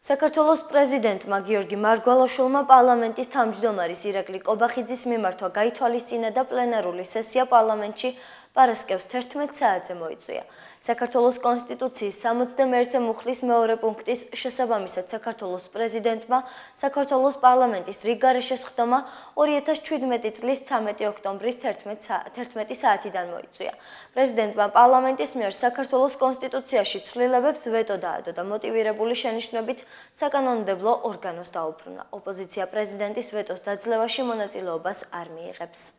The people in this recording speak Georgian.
საქართველოს პრეზიდენტმა გიორგი მარგვალაშვილმა პარლამენტის თავმჯდომარის ირაკლი კობახიძის მიმართვა გაითვალისწინა და პლენარული სესია პარლამენტში პარასკევს 11 საათზე მოიწვია. საქართველოს კონსტიტუციის 61 მუხლის მეორე პუნქტის შესაბამისად საქართველოს პრეზიდენტმა საქართველოს პარლამენტის რიგგარეშე სხდომა 2017 წლის 13 ოქტომბრის 11 საათიდან მოიწვია. პრეზიდენტმა პარლამენტის მიერ საქართველოს კონსტიტუციაში ცვლილებებს ვეტო დაადო და მოტივირებული შენიშვნებით საკანონმდებლო ორგანოს დაუბრუნა. ოპოზიცია პრეზიდენტის ვეტოს დაძლევაში მონაწილეობას არ მიიღებს.